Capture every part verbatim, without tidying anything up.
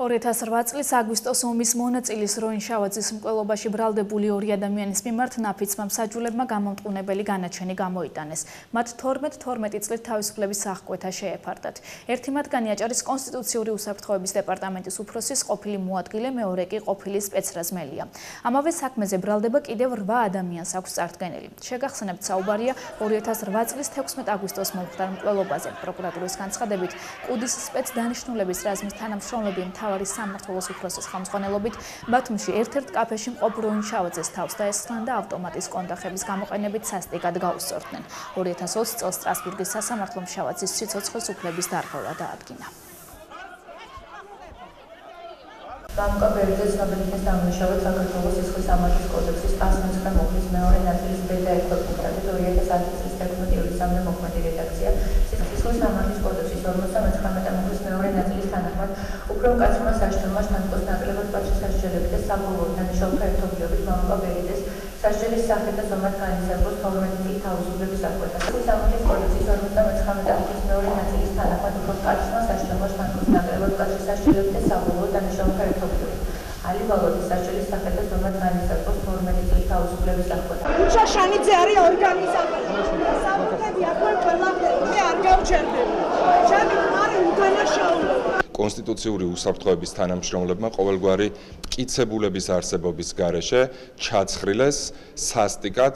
ორი ათას რვა წლის აგვისტოს ომის მონაწილის როინ შავაძის მკვლელობაში ბრალდებული ორი ადამიანის მიმართ ნაფიცმა მსაჯულებმა გამომტყუნებელი განაჩენი გამოიტანეს. მათ თორმეტ თორმეტი წლით თავისუფლების აღკვეთა შეეფარდათ. ერთი მათგანი აჭარის კონსტიტუციური უსაფრთხოების დეპარტამენტის უფროსის ყოფილი მოადგილე, მეორე კი ყოფილი სპეცრაზმელია. ამავე საქმეზე ბრალდება კიდევ რვა ადამიანს აქვს წარდგენილი. შეგახსენებთ, საუბარია ორი ათას რვა წლის თექვსმეტ აგვისტოს მომხდარ მკვლელობაზე. პროკურატურის განცხადებით, კუდის სპეცდანიშნულების რაზმის თანამშრომლები მთავარი სამმართველოს უფროსის ხელმძღვანელობით ბათუმში ერთ-ერთ კაფეში მყოფ როინ შავაძეს თავს დაესხნენ და ავტომატის კონტახების გამოყენებით სასტიკად გაუსწორდნენ. ორი ათას ოცი წელს სტრასბურგის სასამართლომ შავაძის სიცოცხლის უფლების დარღვევა დაადგინა. გამკაბერიძე ცნობილი ხნის დამნაშავედ საქართველოს სისხლის სამართლის კოდექსის ასი მეცხრე მუხლის მეორე ნაწილის ბ და ექვსი პუნქტებით ორი ათას ათი წლის თექვსმეტ ივლისამდე მოქმედი რედაქცია სისხლის სამართლის კოდექსის ორმოცდამეცხრამეტე მუხლის მეორე ნაწილის თანახმად უფრო მკაცრმა საშტელმა შთანთქოს ნაკლებად პატრის სასჯელებით და საბოლოოდ დანიშნულთა ერთობლიობით გამკაბერიძეს სასჯელის სახით და ზომად განისაზღვროს თორმეტი წლის თავისუფლების აღკვეთა. სისხლის სამართლის კოდექსის ორმოცდამეცხრამეტე მუხლის მეორე ნაწილის თანახმად უფრო მკაცრმა საშტელმა შთანთქოს ნაკლებად პატრის სასჯელებით და საბოლოოდ დანიშნულთა ერთობლიობით ალი ვალოდის სასჯელის სახით და ზომად განისაზღვროს თორმეტი წლის თავისუფლების აღკვეთა. უჩა შანიძე არის ორგანიზატორი. საბუთები აქვე ყველაფერი მე არ გავჩერდები. ჩემი ქმარი უდანაშაულო. კონსტიტუციური უსაფრთხოების თანამშრომლებმა ყოველგვარი მტკიცებულების არსებობის გარეშე ჩაცხრილეს სასტიკად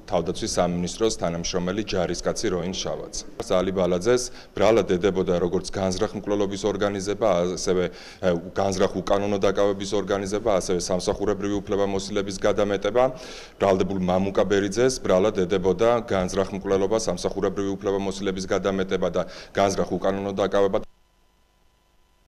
თავდაცვის სამინისტროს თანამშრომელი ჯარისკაცი როინ შავაძე. ალი ბალაძეს ბრალად ედებოდა როგორც განზრახ მკვლელობის ორგანიზება, ასევე განზრახ უკანონო დაკავების ორგანიზება, ასევე სამსახურებრივი უფლებამოსილების გადამეტება. ბრალდებულ მამუკა ბერიძეს ბრალად ედებოდა განზრახ მკვლელობა, სამსახურებრივი უფლებამოსილების გადამეტება და განზრახ უკანონო დაკავება.